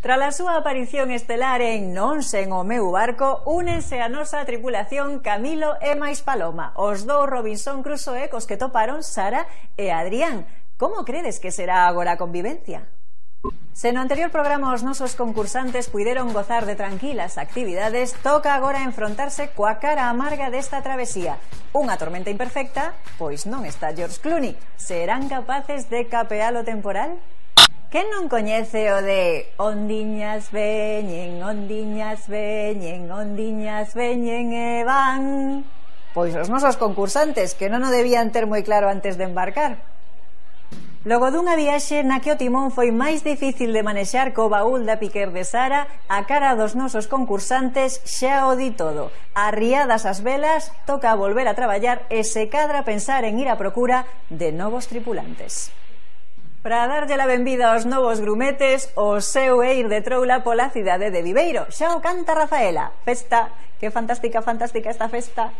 Tras a súa aparición estelar en Non sen o meu barco, únense a nosa tripulación Camilo e máis Paloma, os dous Robinson Crusoe cos que toparon Sara e Adrián. Como credes que será agora a convivencia? Se no anterior programa os nosos concursantes puideron gozar de tranquilas actividades, toca agora enfrontarse coa cara amarga desta travesía. Unha tormenta imperfecta, pois non está George Clooney. Serán capaces de capear o temporal? Quen non coñece o de ondiñas veñen, ondiñas veñen, ondiñas veñen e van? Pois os nosos concursantes, que non o debían ter moi claro antes de embarcar. Logo dunha viaxe na que o timón foi máis difícil de manexar co baúl da Piquer de Sara, a cara dos nosos concursantes xa o di todo. Arriadas as velas, toca volver a traballar e se cadra pensar en ir á procura de novos tripulantes. Para darlle a benvida aos novos grumetes, o seu é ir de troula pola cidade de Viveiro. Xa o canta Rafaela. Festa, que fantástica, fantástica esta festa.